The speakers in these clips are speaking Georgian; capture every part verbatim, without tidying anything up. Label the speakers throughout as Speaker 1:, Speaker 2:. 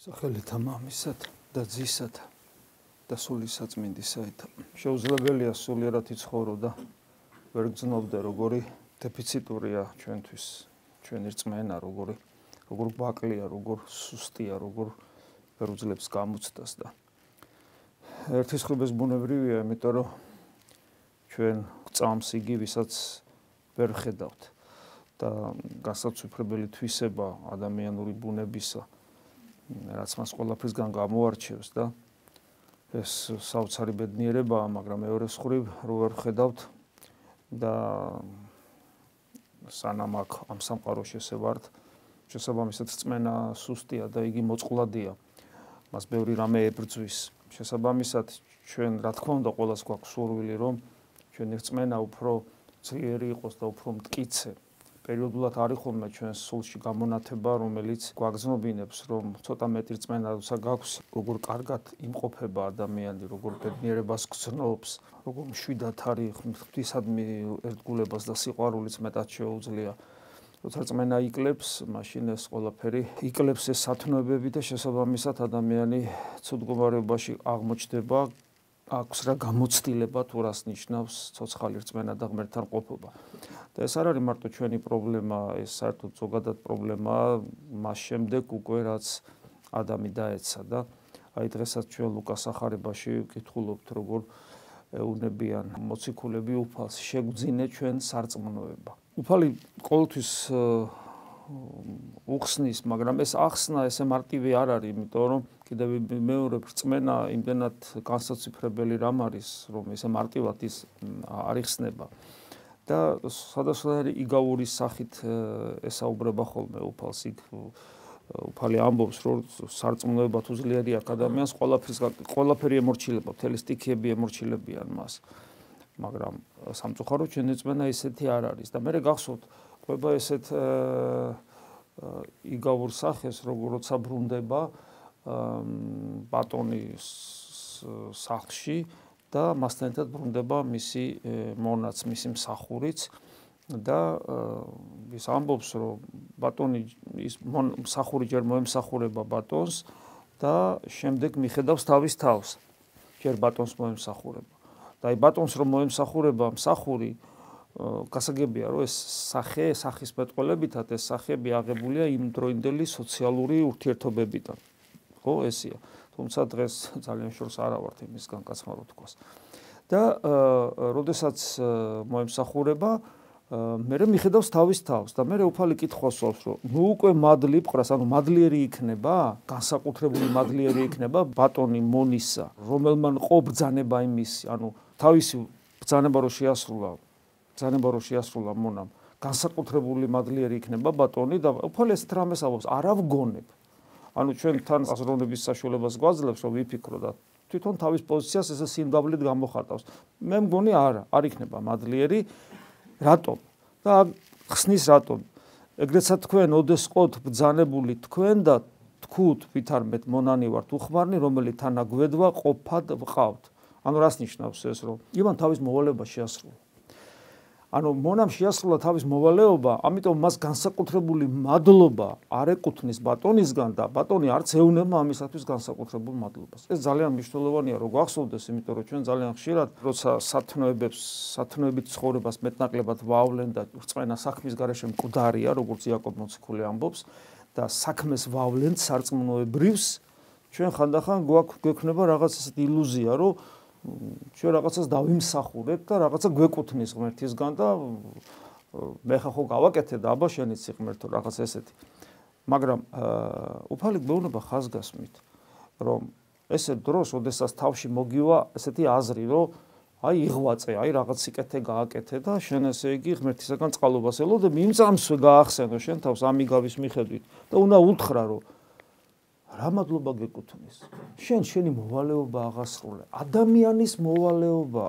Speaker 1: სახელითა მამისად და ძისად და სულისაწმინდისაით. შეუძლებელია სულიერად იცხოვრო და ვერ გძნობდე როგორი დეფიციტურია ჩვენთვის ჩვენი რწმენა, როგორი როგორ გვაკლია, როგორ სუსტია, როგორ ვერ უძლებს გამოცდას და ერთი სხვების ბუნებრივია, იმიტომ რომ ჩვენ წამს იგი, ვისაც ვერ ხედავთ და გასაცვიფრებელი თვისება ადამიანური ბუნებისა, რაც მას ყველაფრისგან გამოარჩევს და ეს საოცარი ბედნიერებაა, მაგრამ მეორე მხრივ რო ვერ ხედავთ და სანამ აქ ამ სამყაროში ესე ვართ, შესაბამისად რწმენა სუსტია და იგი მოწყვლადია. მას ბევრი რამე ებრძვის. შესაბამისად ჩვენ რა თქმა უნდა ყველას გვაქვს სურვილი, რომ ჩვენი რწმენა უფრო ძლიერი იყოს და უფრო მტკიცე. პერიოდულად არის ხოლმე ჩვენს სულში გამონათება, რომელიც გვაგრძნობინებს, რომ ცოტა მეტი რწმენა როცა გაქვს, როგორ კარგად იმყოფება ადამიანი, როგორ ბედნიერებას გრძნობს, როგორ მშვიდად არის ღვთისადმი ერთგულებას და სიყვარულიც მეტად შეუძლია. როცა რწმენა იკლებს, მაშინ ეს ყველაფერი იკლებს ეს სათნოებები და შესაბამისად ადამიანი ცუდ მდგომარეობაში აღმოჩნდება, აქვს რა გამოცდილება თუ რას ნიშნავს ცოცხალი რწმენა და ღმერთთან ყოფობა. და ეს არ არის მარტო ჩვენი პრობლემა, ეს საერთოდ ზოგადად პრობლემაა მას შემდეგ უკვე რაც ადამი დაეცა და აი დღესაც ჩვენ ლუკას ახარებაში ვკითხულობთ როგორ ეუბნებიან მოციქულები უფალს შეგვძინე ჩვენ სარწმუნოება. უფალი ყოველთვის უხსნის, მაგრამ ეს ახსნა ესე მარტივი არ არის, იმიტომ რომ კიდევ მეორე რწმენა იმდენად განსაცვიფრებელი რამ არის, რომ ესე მარტივად ის არ იხსნება. და სადასვანარი იგავურის სახით ესაუბრება ხოლმე უფალს, იქ უფალი ამბობს, რომ სარწმუნოება თუ ძლიერი აქვს ადამიანს, ყველაფერი ემორჩილება, მთელი სტიქიები ემორჩილებიან მას. მაგრამ სამწუხაროდ ჩვენი რწმენა ისეთი არ არის და მე გახსოვთ ყვება ესეთ იგავურ სახეს, როცა ბრუნდება ბატონის სახლში და მასთან ერთად ბრუნდება მისი მონაც, მისი მსახურიც და ის ამბობს, რომ ბატონი ის მსახური ჯერ მოემსახურება ბატონს და შემდეგ მიხედავს თავის თავს, ჯერ ბატონს მოემსახურება. და აი ბატონს რომ მოემსახურება მსახური, გასაგებია, რომ ეს სახე, სახის მეტყველებითად ეს სახეები აღებულია იმ დროინდელი სოციალური ურთიერთობებიდან. ხო, ესია. თუმცა დღეს ძალიან შორს არა ვართ იმისგან კაცმარო თქვას. და როდესაც მოემსახურება, მერე მიხედავს თავის თავს და მერე უფალი კითხვას სვავს, რომ ნუ უკვე მადლი პყრას, ანუ მადლიერი იქნება, განსაკუთრებული მადლიერი იქნება ბატონი მონისა, რომელმან ყო ბრძანება იმისი, ანუ თავისი ბრძანება რო შეასრულა, ბრძანება რო შეასრულა მონამ, განსაკუთრებული მადლიერი იქნება ბატონი და უფალი ესეთ რამეს ამბობს, არა ვგონებ. ანუ ჩვენ თან აზროვნების საშუალებას გვაძლევს, რომ ვიფიქრო და თვითონ თავის პოზიციას ესე სიმდაბლედ გამოხატავს. მე მგონი არა, არ იქნება მადლიერი. რატომ? და ხსნის რატომ? ეგრეცა თქვენ ოდეს ყოთ ბრძანებული თქვენ და თქვუთ ვითარმეთ მონანი ვართ უხმარნი, რომელიც თანაგვედვა ყოფად ვყავთ. ანუ რას ნიშნავს ეს, რომ ივან თავის მოვალეობა შეასრულა. ანუ მონამ შეასრულა თავის მოვალეობა, ამიტომ მას განსაკუთრებული მადლობა არ ეკუთვნის ბატონისგან და ბატონი არც ეუნება ამისათვის განსაკუთრებულ მადლობას. ეს ძალიან მნიშვნელოვანია, რომ გვახსოვდეს, იმიტომ რომ ჩვენ ძალიან ხშირად, როცა სათნოებებს, სათნოებით ცხოვრებას მეტნაკლებად ვავლენ და რწმენა საქმის გარეშე მკვდარია, როგორც იაკობ მოციქული ამბობს, და საქმეს ვავლენთ სარწმუნოებრივს, ჩვენ ხანდახან გვექნება რაღაც ესეთი ილუზია, რომ ჩვენ რაღაცას დავიმსახურებთ და რაღაცა გვეკუთვნის ღმერთისგან და მე ხა ხო გავაკეთე და აბა შენიც ღმერთო რაღაც ესეთი. მაგრამ უფალი გვეუბნება ხაზგასმით, რომ ესეთ დროს, ოდესაც თავში მოგივა ესეთი აზრი, რომ აი იღვაწე, აი რაღაც სიკეთე გააკეთე და შენ ესე იგი ღმერთისგან წყალობას ელოდე, იმ წამსვე გაახსენო შენ თავს ამიგავის მიხედვით და უნდა უთხრა, რომ რა მადლობა გეკუთვნის. შენ შენი მოვალეობა აღასრულე. ადამიანის მოვალეობა.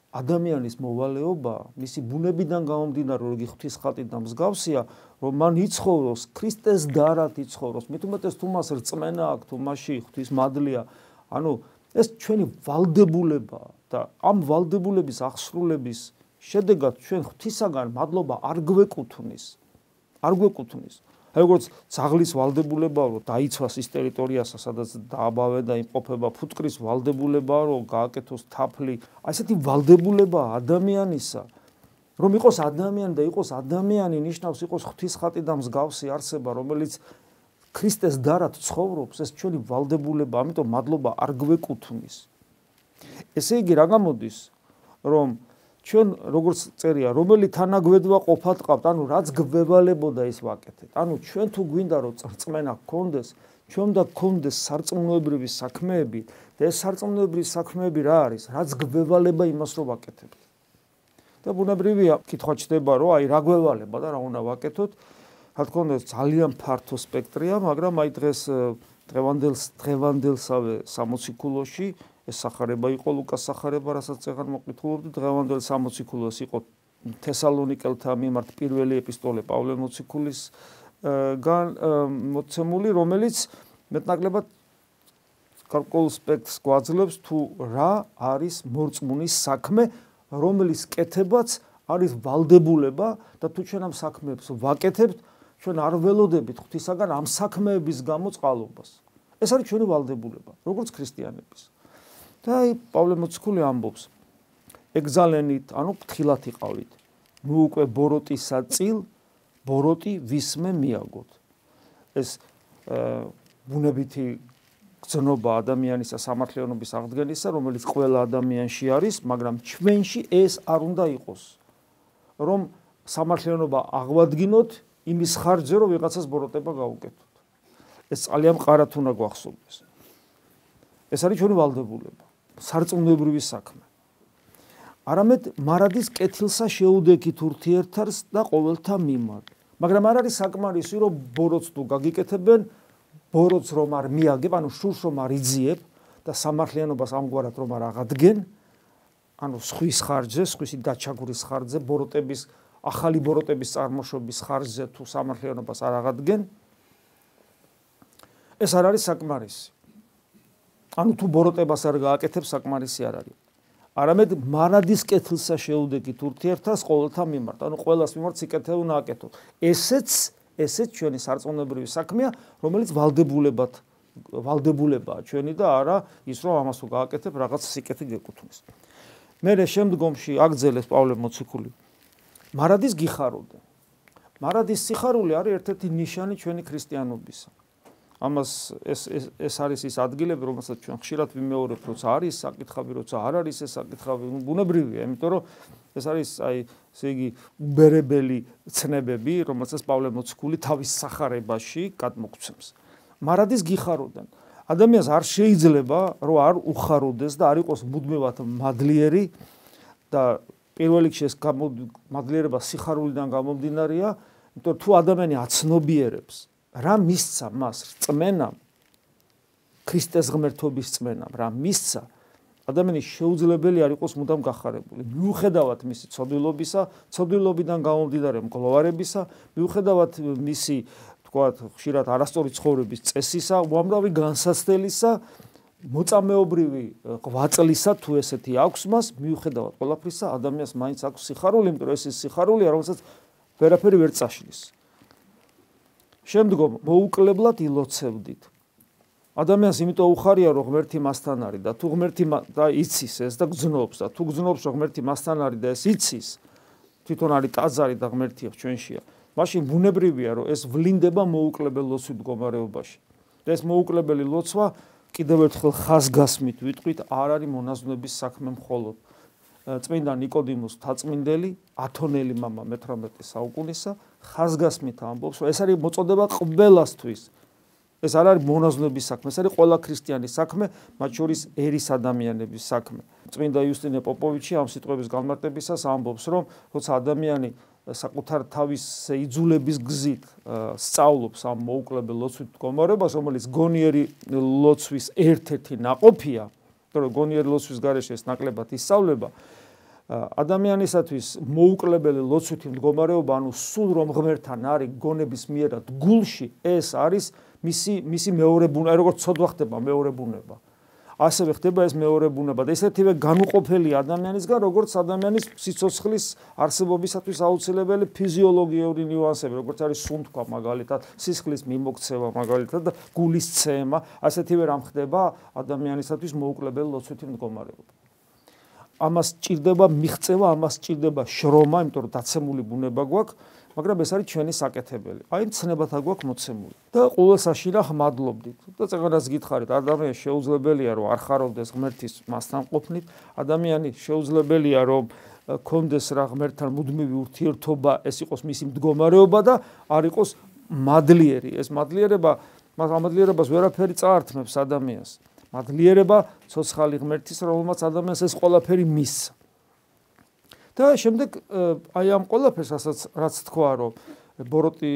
Speaker 1: ადამიანის მოვალეობა, მისი ბუნებიდან გამომდინარე, რომ იგი ღვთის ხატით და მსგავსია, რომ მან იცხოვროს ქრისტეს დარად იცხოვროს. მით უმეტეს თუ მას რწმენა აქვს, თუ მასში ღვთის მადლია, ანუ ეს ჩვენი ვალდებულებაა და ამ ვალდებულების აღსრულების შედეგად ჩვენ ღვთისაგან მადლობა არ გვეკუთვნის. არ გვეკუთვნის. როგორც ძაღლის ვალდებულებაა, რომ დაიცვას ის ტერიტორიასა, სადაც დააბავე და იმყოფება, ფუტკრის ვალდებულებაა, რომ გააკეთოს თაფლი. ასეთი ვალდებულებაა ადამიანისა, რომ იყოს ადამიანი და იყოს ადამიანი ნიშნავს იყოს ღვთისხატი და მსგავსი არსება, რომელიც ქრისტეს დარად ცხოვრობს, ეს ჩვენი ვალდებულება, ამიტომ მადლობა არ გვეკუთვნის. ესე იგი რა გამოდის, რომ ჩვენ როგორც წერია, რომელი თანაგვედვა ყოფად ყავთ, ანუ რაც გვევალებოდა ის ვაკეთეთ. ანუ ჩვენ თუ გვინდა რომ რწმენა გქონდეს, ჩვენ და გქონდეს სარწმუნოებრივი საქმეები და ეს სარწმუნოებრივი საქმეები რა არის? რაც გვევალება იმას რომ ვაკეთებთ. და ბუნებრივია, კითხვა ჩდება, რომ აი რა გვევალება და რა უნდა ვაკეთოთ. რა თქმა უნდა, ძალიან ფართო სპექტრია, მაგრამ აი დღეს დღევანდელს დღევანდელსავე სამოციქულოში ეს სახარება იყო ლუკას სახარება, რასაც წეგან მოკითხულობდი, დღევანდელ სამოციქულოს იყო თესალონიკელთა მიმართ პირველი ეპისტოლე პავლე მოციქულისგან მოცემული, რომელიც მეტნაკლებად გარკვეულ სპექტრს გვაძლევს თუ რა არის მორწმუნის საქმე, რომლის კეთებაც არის ვალდებულება და თუ ჩვენ ამ საქმეებს ვაკეთებთ, ჩვენ არ ველოდებით ღვთისაგან ამ საქმეების გამო წყალობას. ეს არის ჩვენი ვალდებულება, როგორც ქრისტიანების. და აი პავლე მოციქული ამბობს, ეგზალენით, ანუ ფრთხილად იყავით. ნუ უკვე ბოროტისა წილ, ბოროტი ვისმე მიაგოთ. ეს ბუნებითი გზნობა ადამიანისა სამართლიანობის აღდგენისა, რომელიც ყველა ადამიანში არის, მაგრამ ჩვენში ეს არ უნდა იყოს. რომ სამართლიანობა აღვადგინოთ იმის ხარჯზე, რომ ვიღაცას ბოროტება გავუკეთოთ. ეს ძალიან მყარად უნდა გვახსოვდეს. ეს არის ჩვენი ვალდებულება, სარწმუნოებრივი საქმე. არამედ მარადის კეთილსა შეუდექით ურთიერთარს და ყოველთა მიმართ. მაგრამ არ არის საკმარისი, რომ ბოროტს თუ გაგიკეთებენ, ბოროტს რომ არ მიაგებ, ანუ შურს რომ არ იძიებ და სამართლიანობას ამგვარად რომ არ აღადგენ, ანუ სხვის ხარჯზე, სხვისი დაჩაგურის ხარჯზე, ბოროტების ახალი ბოროტების წარმოშობის ხარჯზე თუ სამართლიანობას არ აღადგენ, ეს არ არის საკმარისი. ანუ თუ ბოროტებას არ გააკეთებ, საკმარისი არ არის. არამედ მარადის კეთილსა შეუდექით ურთიერთას ყოველთა მიმართ, ანუ ყველას მიმართ სიკეთე უნდა აკეთო. ესეც ესეც ჩვენი სარწმუნოებრივი საქმეა, რომელიც ვალდებულებად ვალდებულებაა ჩვენი და არა ის რომ ამას თუ გააკეთებ, რაღაც სიკეთე გეკუთვნის. მერე შემდგომში აგძელეს პავლე მოციქული. მარადის გიხაროდე. მარადის სიხარული არის ერთ-ერთი ნიშანი ჩვენი ქრისტიანობისა. ამას ეს ეს ეს არის ის ადგილები, რომელსაც ჩვენ ხშირად ვიმეორებთ, როცა არის საკითხავი, როცა არ არის ეს საკითხავი, ბუნებრივია, იმიტომ რომ ეს არის აი ესე იგი უბერებელი ცნებები, რომელსაც პავლე მოციქული თავის სახარებაში გადმოგცემს. მარადის გიხაროდან. ადამიანს არ შეიძლება, რომ არ უხაროდეს და არ იყოს მუდმივად მადლიერი და პირველ რიგში ეს მადლიერება სიხარულიდან გამომდინარეა, იმიტომ თუ ადამიანი აცნობიერებს რა მისცა მას რწმენამ, ქრისტეს ღმერთობის რწმენამ, რა მისცა, ადამიანის შეუძლებელი არ იყოს მუდამ გახარებული. მიუხედავად მისი ცოდვილობისა, ცოდვილობიდან გამომდინარე მგლოვარებისა, მიუხედავად მისი, თქვათ, ხშირად არასწორი ცხოვრების წესისა, უამრავი განსაცდელისა, მოწამეობრივი ღვაწლისა, თუ ესეთი აქვს მას, მიუხედავად ყველაფრისა, ადამიანს მაინც აქვს სიხარული, იმიტომ რომ ეს ის სიხარულია, რომელსაც ვერაფერი ვერ წაშლის. შემდგომ მოუკლებლად ილოცევდით. ადამიანს იმიტომ უხარია, რომ ღმერთი მასთან არის და თუ ღმერთი და იცის ეს და გძნობს და თუ გძნობს, რომ ღმერთი მასთან არის და ეს იცის, თვითონ არის ტაძარი და ღმერთია ჩვენშია. მაშინ ბუნებრივია, რომ ეს ვლინდება მოუკლებელ ლოცვით მდგომარეობაში. და ეს მოუკლებელი ლოცვა კიდევ ერთხელ ხაზგასმით ვიტყვით, არ არის მონაზვნების საქმე მხოლოდ. წმინდა ნიკოდიმოს თაწმინდელი, ათონელი მამა მეთვრამეტე საუკუნისა, ხაზგასმით ამბობს, რომ ეს არის მოწოდება ყველასთვის. ეს არ არის მონაზვნების საქმე, ეს არის ყველა ქრისტიანის საქმე, მათ შორის ერის ადამიანების საქმე. წმინდა იუსტინე პოპოვიჩი ამ სიტყვების განმარტებისას ამბობს, რომ როცა ადამიანი საკუთარ თავის იძულების გზით სწავლობს ამ მოუკლებელ ლოცვით მდგომარეობას, რომელიც გონიერი ლოცვის ერთ-ერთი ნაყოფია, რომ გონიერი ლოცვის გარეშე ეს ნაკლებად ისწავლება, ადამიანისათვის მოუკლებელი ლოცვითი მდგომარეობა, ანუ სულ რომ ღმერთთან არის გონების მიერად გულში, ეს არის მისი მისი მეორე ბუნება, როგორც ცოდვა ხდება მეორე ბუნება. ასევე ხდება ეს მეორე ბუნება და ესეთივე განუყოფელი ადამიანისგან, როგორც ადამიანის სიცოცხლის არსებობისათვის აუცილებელი ფიზიოლოგიური ნიუანსები, როგორც არის სუნთქვა მაგალითად, სისხლის მიმოქცევა მაგალითად და გულის ცემა, ასეთივე რამ ხდება ადამიანისათვის მოუკლებელი ლოცვითი მდგომარეობა. ამას ჭირდება მიღწევა, ამას ჭირდება შრომა, იმიტომ რომ დაცემული ბუნება გვაქვს, მაგრამ ეს არის ჩვენი საკეთებელი. აი ცნებათა გვაქვს მოცემული. და ყოველ საშინახ მადლობდით. და წეგანას გითხარით, ადამიანს შეუძლებელია რომ არ ხარობდეს ღმერთის მასთან ყოფნით, ადამიანი შეუძლებელია რომ კონდეს რა ღმერთთან მუდმივი ურთიერთობა, ეს იყოს მისი მდგომარეობა და არ იყოს მადლიერი. ეს მადლიერება, მას ამადლიერებას ვერაფერი წაართმევს ადამიანს. მადლიერება ცოცხალი ღმერთის, რომელმაც ადამიანს ეს ყველაფერი მისცა. და შემდეგ აი ამ ყველაფერს, რაც თქვა, რომ ბოროტი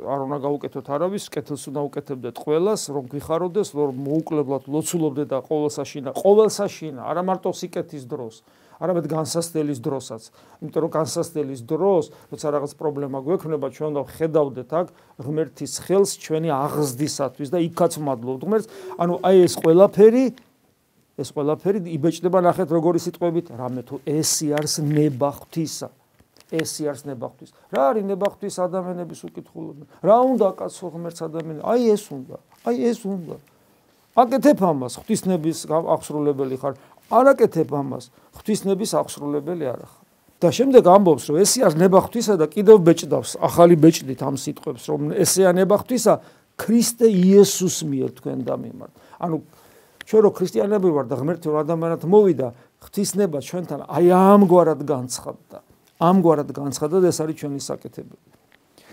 Speaker 1: არ უნდა გაუკეთოთ არავის, კეთილს უნდა უკეთებდეთ ყველას, რომ გიხაროდეს, რომ მოუკლებლად ლოცულობდეთ და ყოველსაშინა, ყოველსაშინა, არა მარტო სიკეთის დროს, არამედ განსასწრების დროსაც. იმიტომ რომ განსასწრების დროს, როცა რაღაც პრობლემა გვექნება, ჩვენ უნდა ხედავდეთ აქ ღმერთის ხელს ჩვენი აღზრდისათვის და იქაც მადლობთ ღმერთს. ანუ აი ეს ყველაფერი ეს ყველაფერი იბეჭდება ნახეთ როგორი სიტყვებით, რამე თუ ესი არის ნება ღვთისა. ესი არის ნება ღვთის. რა არის ნება ღვთის ადამიანების უკითხულობენ? რა უნდა აკაცო ღმერთს ადამიანს? აი ეს უნდა. აი ეს უნდა. აკეთებ ამას, ღვთისნების აღსრულებელი ხარ. არ აკეთებ ამას, ღვთისნების აღსრულებელი არ ხარ. და შემდეგ ამბობს, რომ ესი არის ნება ღვთისა და კიდევ ბეჭდავს ახალი ბეჭდით ამ სიტყვებს, რომ ესეა ნება ღვთისა ქრისტე იესოს მიერ თქვენ და მიმართ. ანუ ჩვენ რო ქრისტიანები ვარ და ღმერთი რო ადამიანად მოვიდა, ღვთისნება ჩვენთან აი ამგვარად განცხადდა. ამგვარად განცხადდა და ეს არის ჩვენი საკეთებელი.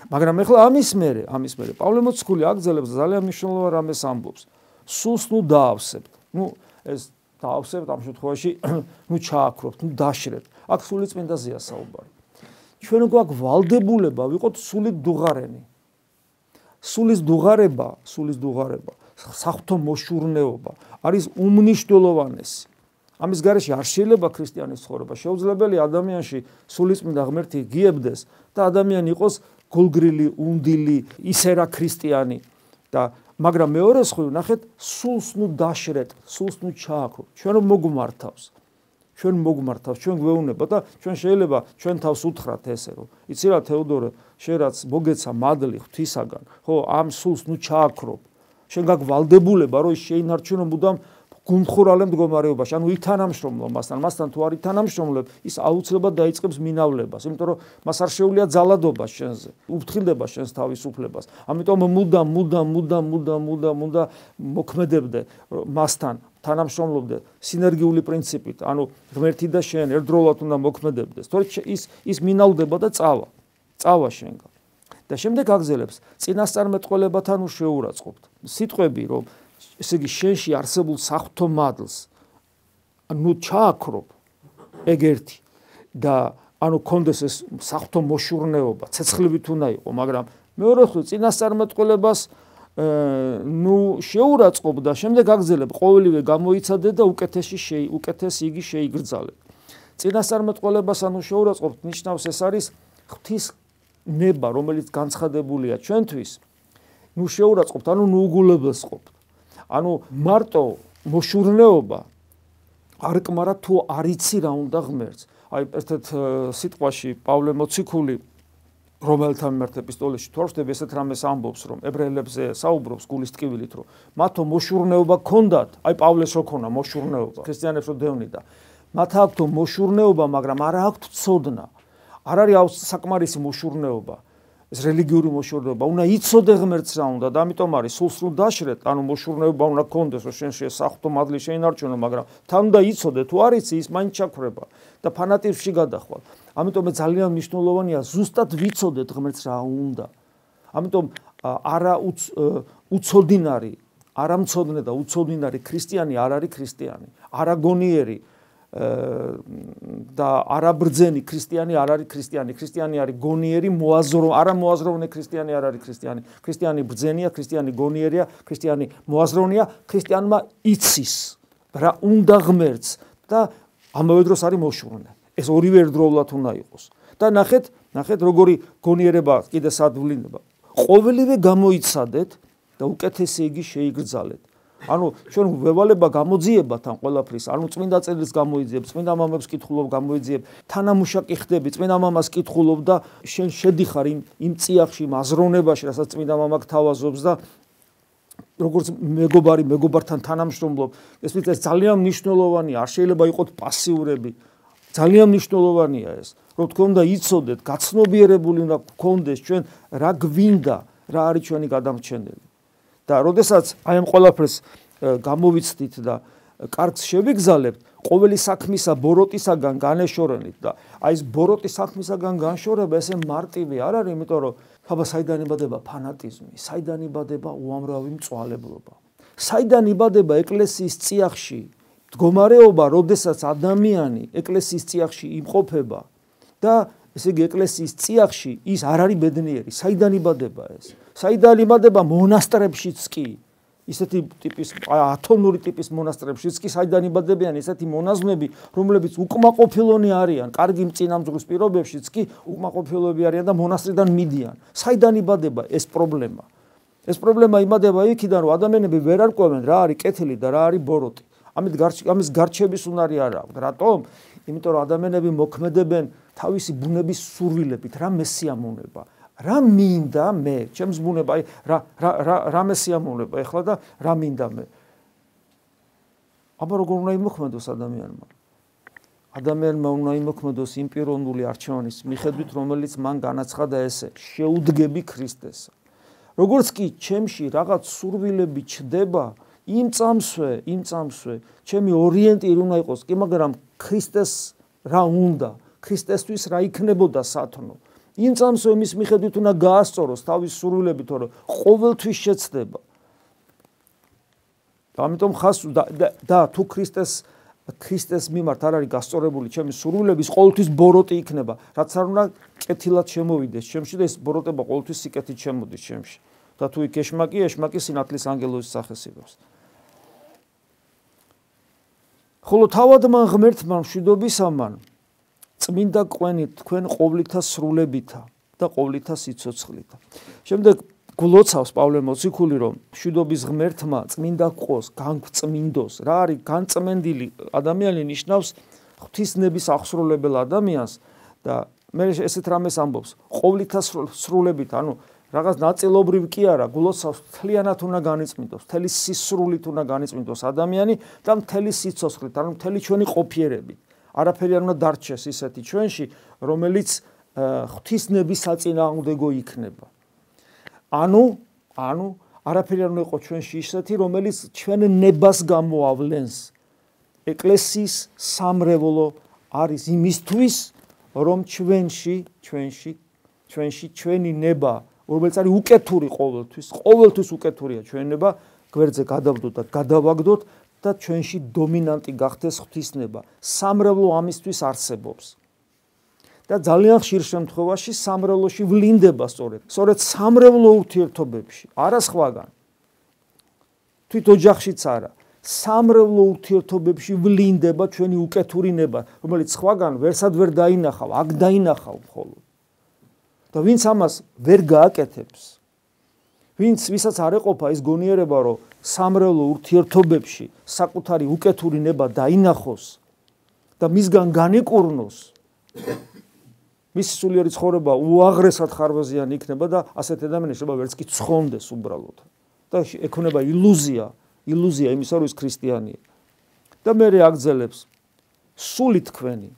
Speaker 1: მაგრამ ეხლა ამის მერე, ამის მერე პავლე მოციქული აგრძელებს ძალიან მნიშვნელოვან რამეს ამბობს. სულს ნუ დაავსებთ. ნუ ეს დაავსებთ ამ შემთხვევაში, ნუ ჩააქრობთ, ნუ დაშრებთ. აქ სული წმინდაზეა საუბარი. ჩვენ გვაქვს ვალდებულება ვიყოთ სულით დუღარენი. სულის დუღარება, სულის დუღარება, საღვთო მოშურნეობა არის უმნიშვნელოვანესი. ამის გარეშე არ შეიძლება ქრისტიანის ცხოვრება. შეუძლებელია ადამიანში სულიწმინდა ღმერთი გიებდეს და ადამიანი იყოს გულგრილი, უნდილი, ისე რა ქრისტიანი და მაგრამ მეორე მხრივ ნახეთ, სულს ნუ დაშრეთ, სულს ნუ ჩააქროთ. ჩვენ მოგმართავს. ჩვენ მოგმართავს, ჩვენ გვეუბნება და ჩვენ შეიძლება ჩვენ თავს უთხრათ ესე რომ იცი რა თეოდორე, შენ რაც მოგეცა მადლი ღვთისაგან, ხო, ამ სულს ნუ ჩააქრო. შენ გაქვს ვალდებულება რომ შეინარჩუნო მუდამ გუმხურალე მდგომარეობაში, ანუ ითანამშრომლო მასთან, მასთან თუ არ ითანამშრომლებ, ის აუცილებლად დაიწყებს მინავლებას, იმიტომ რომ მას არ შეუძლია ძალადობა შენზე, უფრთხილდება შენს თავისუფლებას. ამიტომ მუდამ, მუდამ, მუდამ, მუდამ, მუდამ, მუდამ მოქმედებდე მასთან, თანამშრომლობდე სინერგიული პრინციპით, ანუ ღმერთი და შენ ერთდროულად უნდა მოქმედებდეს. თორე ის ის მინავდება და წავა, წავა შენგან. და შემდეგ აგზელებს წინასწარმეტყველებათან უშეურაცხყოფთ. სიტყვები რომ ესე იგი შენში არსებულ საღვთო მადლს ანუ ჩააქრობ ეგ ერთი და ანუ კონდეს ეს საღვთო მოშურნეობა, ცეცხლივით უნდა იყო, მაგრამ მეორე მხრივ წინასწარმეტყველებას ნუ შეურაცხყოფ და შემდეგ აგზელებ ყოველივე გამოიცადე და უკეთესი შეი უკეთესი იგი შეიგრძალე. წინასწარმეტყველებას ანუ შეურაცხყოფთ ნიშნავს ეს არის ღვთის ნება, რომელიც განცხადებულია ჩვენთვის, ნუ შეურაცხყოფთ, ანუ ნუ უგულებელს ყოფთ. ანუ მარტო მოშურნეობა არ კმარა თუ არ იცი რა უნდა ღმერთს. აი ერთ-ერთ სიტყვაში პავლე მოციქული რომელთა მიმართ ეპისტოლეში თორშდები ესეთ რამეს ამბობს, რომ ებრაელებზე საუბრობს გულის ტკივილით, რომ მათო მოშურნეობა ქონდათ, აი პავლეს რო ქონა მოშურნეობა, ქრისტიანებს რო დევნიდა. მათ აქვთ მოშურნეობა, მაგრამ არ აქვთ ცოდნა. არ არის საკმარისი მოშურნეობა. ეს რელიგიური მოშურნეობა, უნდა იცოდე ღმერთს რა უნდა და ამიტომ არის სულს ნუ დაშრეთ, ანუ მოშურნეობა უნდა გქონდეს, რომ შენ საღვთო მადლი შეინარჩუნო, მაგრამ თან უნდა იცოდე, თუ არ იცი, ის მაინც ჩაქრება და ფანატიზმში გადახვალ. ამიტომ ძალიან მნიშვნელოვანია ზუსტად ვიცოდეთ ღმერთს რა უნდა. ამიტომ არა უცოდინარი, არამცოდნე და უცოდინარი ქრისტიანი არ არის ქრისტიანი. არაგონიერი და არაბრძენი ქრისტიანი არ არის ქრისტიანი. ქრისტიანი არის გონიერი, მოაზრო, არა მოაზროვნე ქრისტიანი არ არის ქრისტიანი. ქრისტიანი ბრძენია, ქრისტიანი გონიერია, ქრისტიანი მოაზროვნეა, ქრისტიანმა იცის რა უნდა ღმერთს და ამავე დროს არის მოშურნე. ეს ორივე ერთდროულად უნდა იყოს. და ნახეთ, ნახეთ როგორი გონიერება კიდე სადვლინება. ყოველივე გამოიცადეთ და უკეთესი იგი შეიგრძალეთ. ანუ ჩვენ ველება გამოძიებათ ამ ყველაფრის, ანუ წმინდა წერილს გამოიძიებ, წმინდა მამებს კითხულობ, გამოიძიებ, თანამუშაკი ხდები, წმინდა მამას კითხულობ და შენ შედიხარ იმ იმ წიაღში, იმ აზროვნებაში, რასაც წმინდა მამა გთავაზობს და როგორც მეგობარი მეგობართან თანამშრომლობ, ეს ვიცი ძალიან მნიშვნელოვანია, არ შეიძლება იყოთ პასიურები. ძალიან მნიშვნელოვანია ეს, რომ თქვენ უნდა იცოდეთ, გაცნობიერებული უნდა გქონდეს ჩვენ რა გვინდა, რა არის ჩვენი გადამრჩენელი. და როდესაც აი ამ ყველაფერს გამოვიცდით და კარგს შევიგზალებთ, ყოველი საქმისა ბოროტისაგან განეშორენით და აი ეს ბოროტის საქმისაგან განშორება ესე მარტივი არ არის, იმიტომ რომ ხაბა საიდან იბადება ფანატიზმი, საიდან იბადება უამრავი მწვალებლობა, საიდან იბადება ეკლესიის წიაღში მდგომარეობა, როდესაც ადამიანი ეკლესიის წიაღში იმყოფება და ესე იგი ეკლესიის წიაღში ის არ არის ბედნიერი, საიდან იბადება ეს? საიდან იბადება მონასტრებშიც კი? ისეთი ტიპის ათონური ტიპის მონასტრებშიც კი საიდან იბადებიან ესეთი მონაზვნები, რომლებიც უკმაყოფილონი არიან, კარგი მწინამძღვრის პირობებშიც კი უკმაყოფილოები არიან და მონასტრიდან მიდიან. საიდან იბადება ეს პრობლემა? ეს პრობლემა იბადება იქიდან, რომ ადამიანები ვერ არკვევენ რა არის კეთილი და რა არის ბოროტი. ამით ამის გარჩევის უნარი არ აქვს. რატომ? იმიტომ რომ ადამიანები მოქმედებენ თავისი ბუნების სურვილებით, რა მესიამონება, რა მინდა მე, ჩემს ბუნება, აი რა რა რა რა მესიამონება ეხლა და რა მინდა მე. აბა როგორ უნდა იმოქმედოს ადამიანმა? ადამიანმა უნდა იმოქმედოს იმ პიროვნული არჩევანის მიხედვით, რომელიც მან განაცხადა ესე, შეუდგები ქრისტესა. როგორც კი ჩემში რაღაც სურვილები ჩდება, იმ წამსვე, იმ წამსვე, ჩემი ორიენტირი უნდა იყოს, კი მაგრამ ქრისტეს რა უნდა, ქრისტესთვის რა იქნებოდა სათნო. იმ წამსვე მის მიხედვით უნდა გაასწოროს თავის სურვილები, თორე ყოველთვის შეცდება. ამიტომ ხას და, და, და თუ ქრისტეს ქრისტეს მიმართ არ არის გასწორებული ჩემი სურვილების, ყოველთვის ბოროტი იქნება, რაც არ უნდა კეთილად შემოვიდეს ჩემში და ეს ბოროტება ყოველთვის სიკეთით შემოდის ჩემში. და თუ იქ ეშმაკი, ეშმაკი სინათლის ანგელოზის სახეს იღებს. ხოლო თავადმა ღმერთმა მშვიდობისამან წმინდა ყვენით თქვენ ყოვლითა სრულებითა და ყოვლითა სიცოცხლითა. შემდეგ გულოცავს პავლე მოციქული, რომ მშვიდობის ღმერთმა წმინდა ყოს, განგვწმინდოს. რა არის განწმენდილი ადამიანი ნიშნავს ღვთისნების აღსრულებელ ადამიანს და მე ესეთ რამეს ამბობს, ყოვლითა სრულებით, ანუ რაღაც ნაწილობრივ კი არა, გულოცავს მთლიანად უნდა განიწმინდოს, მთელი სისრულით უნდა განიწმინდოს ადამიანი და მთელი სიცოცხლით, ანუ მთელი ჩვენი ყოფიერებით. არაფერი არ უნდა დარჩეს ისეთი ჩვენში, რომელიც ღვთისნების საწინააღმდეგო იქნება. ანუ, ანუ არაფერი არ უნდა იყოს ჩვენში ისეთი, რომელიც ჩვენ ნებას გამოავლენს. ეკლესიის სამრევლო არის იმისთვის, რომ ჩვენში, ჩვენში, ჩვენში ჩვენი ნება, რომელიც არის უკეთური ყოველთვის, ყოველთვის უკეთურია ჩვენი ნება, გვერდზე გადავდოთ და გადავაგდოთ და ჩვენში დომინანტი გახდეს ღვთისნება. სამრევლო ამისთვის არსებობს. და ძალიან ხშირ შემთხვევაში სამრევლოში ვლინდება სწორედ. სწორედ სამრევლო ურთიერთობებში, არა სხვაგან. თვით ოჯახშიც არა. სამრევლო ურთიერთობებში ვლინდება ჩვენი უკეთური ნება, რომელიც სხვაგან ვერსად ვერ დაინახავ, აქ დაინახავ მხოლოდ. და ვინც ამას ვერ გააკეთებს, ვინც ვისაც არ ეყოფა ის გონიერება, რომ სამრევლო ურთიერთობებში საკუთარი უკეთური ნება დაინახოს და მისგან განიკურნოს, მისი სულიერი ცხოვრება უაღრესად ხარვეზიანი იქნება და ასეთ ადამიანს შეიძლება ვერც კი ცხონდეს უბრალოდ. და ექნება ილუზია, ილუზია იმისა, რომ ის ქრისტიანია. და მე აგძელებს სული თქვენი,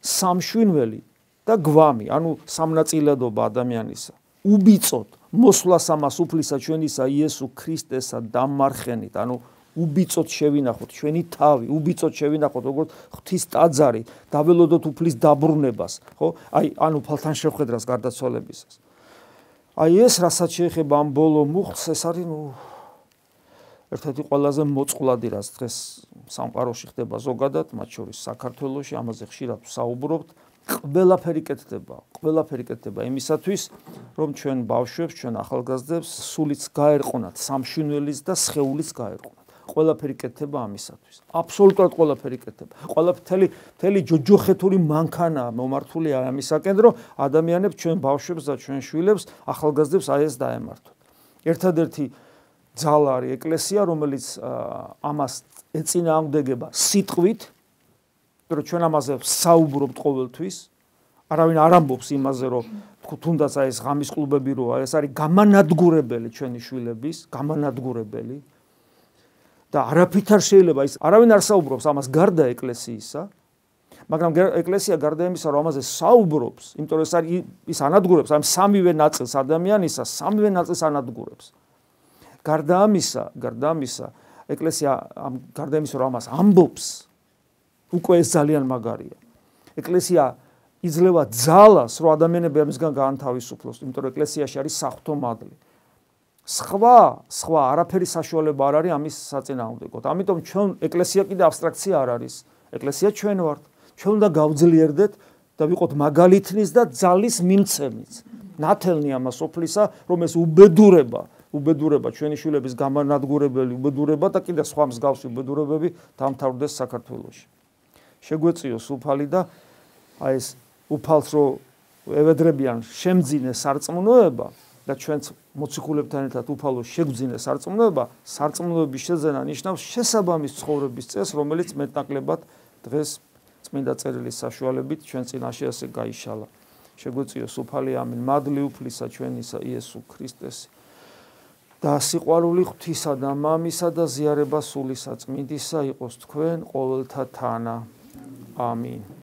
Speaker 1: სამშვინველი და გვამი, ანუ სამნაწილადობა ადამიანისა. უბიწოთ მოსვლას ამას უფლისა ჩვენისა იესო ქრისტესა დამარხენით, ანუ უბიწოთ შევინახოთ ჩვენი თავი, უბიწოთ შევინახოთ როგორც ღვთის ტაძარი, დაველოდოთ უფლის დაბრუნებას, ხო? აი, ანუ ფალთან შეხვედრას გარდაცვალებისას. აი ეს რასაც შეეხება ამ ბოლო მუხტს, ეს არის ნუ ერთ-ერთი ყველაზე მოწყვლადი, რაც დღეს სამყაროში ხდება ზოგადად, მათ შორის საქართველოში, ამაზე ხშირად ვსაუბრობთ. ყველაფერი კეთდება, ყველაფერი კეთდება იმისათვის, რომ ჩვენ ბავშვებს, ჩვენ ახალგაზრდებს სულიც გაერყვნათ, სამშვინველიც და სხეულიც გაერყვნათ. ყველაფერი კეთდება ამისათვის. აბსოლუტურად ყველაფერი კეთდება. ყველაფერი მთელი ჯოჯოხეთური მანქანა მომართულია ამისაკენ, რომ ადამიანებს, ჩვენ ბავშვებს და ჩვენ შვილებს, ახალგაზრდებს აი ეს დაემართოთ. ერთადერთი ძალა არის ეკლესია, რომელიც ამას ეწინააღმდეგება სიტყვით, რომ ჩვენ ამაზე საუბრობთ ყოველთვის, არავინ არ ამბობს იმაზე, რომ თუნდაც აი ეს ღამის კლუბები როა, ეს არის გამანადგურებელი ჩვენი შვილების, გამანადგურებელი. და არაფრით არ შეიძლება ის არავინ არ საუბრობს ამას გარდა ეკლესიისა, მაგრამ ეკლესია გარდა იმისა, რომ ამაზე საუბრობს, იმიტომ რომ ეს არის ის ანადგურებს ამ სამივე ნაწილს ადამიანისა, სამივე ნაწილს ანადგურებს. გარდა ამისა, გარდა ამისა, ეკლესია ამ გარდა იმისა, რომ ამას ამბობს, უკვე ეს ძალიან მაგარია. ეკლესია იძლევა ძალას, რომ ადამიანები ამისგან გაანთავისუფლოს, იმიტომ რომ ეკლესიაში არის საღვთო მადლი. სხვა, სხვა არაფერი საშუალება არ არის ამის საწინააღმდეგოდ. ამიტომ ჩვენ ეკლესია კიდე აბსტრაქცია არ არის. ეკლესია ჩვენ ვართ. ჩვენ უნდა გავძლიერდეთ და ვიყოთ მაგალითნის და ძალის მიმცემიც. ნათელნი ამას ოფლისა, რომ ეს უბედურება, უბედურება ჩვენი შვილების გამანადგურებელი უბედურება და კიდე სხვა მსგავსი უბედურებები დამთავრდეს საქართველოში. შეგვეწიოს უფალი და აი ეს უფალს რო ევედრებიან შემძინე სარწმუნოება და ჩვენც მოციქულებთან ერთად უფალოს შეგვძინე სარწმუნოება, სარწმუნოების შეძენა ნიშნავს შესაბამის ცხოვრების წესს, რომელიც მეტნაკლებად დღეს წმინდა წერილის საშუალებით ჩვენ წინაშე ასე გაიშალა. შეგვეწიოს უფალი, ამინ. მადლი უფლისა ჩვენისა იესო ქრისტეს და სიყვარული ღვთისა და მამისა და ზიარება სულისა წმინდისა იყოს თქვენ ყოველთა თანა. ამინ.